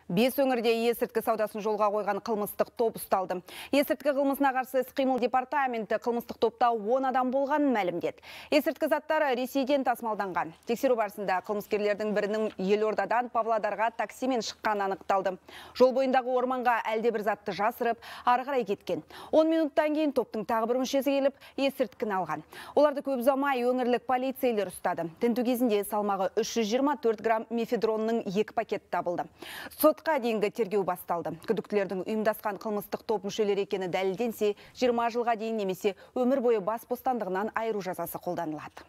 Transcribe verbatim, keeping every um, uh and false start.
Бес өңірде есірткі саудасын жолға қойған қылмыстық топ ұсталды. Есірткі қылмысына қарсы іс-қимыл департаменті қылмыстық топта он адам болғанын мәлімдеді. Есірткі заттары Ресейден тасымалданған. Тексеру барысында қылмыскерлердің бірінің Елордадан Павлодарға таксимен шыққаны анықталды. Жол бойындағы орманға әлде бір затты жасырып, ары қарай кеткен. он минуттан кейін топтың тағы бір мүшесі келіп, есірткіні алған. Оларды көп ұзамай өңірлік полицейлер ұстады. Тінту кезінде салмағы үш жүз жиырма төрт грамм мефедронның екі пакет табылды. Сотқа дейінгі тергеу басталды. Күдіктілердің ұйымдасқан қылмыстық топ мүшелері екені дәлелденсе, жиырма жылға дейін немесе өмір бойы бас бостандығынан айыру жазасы қолданылады.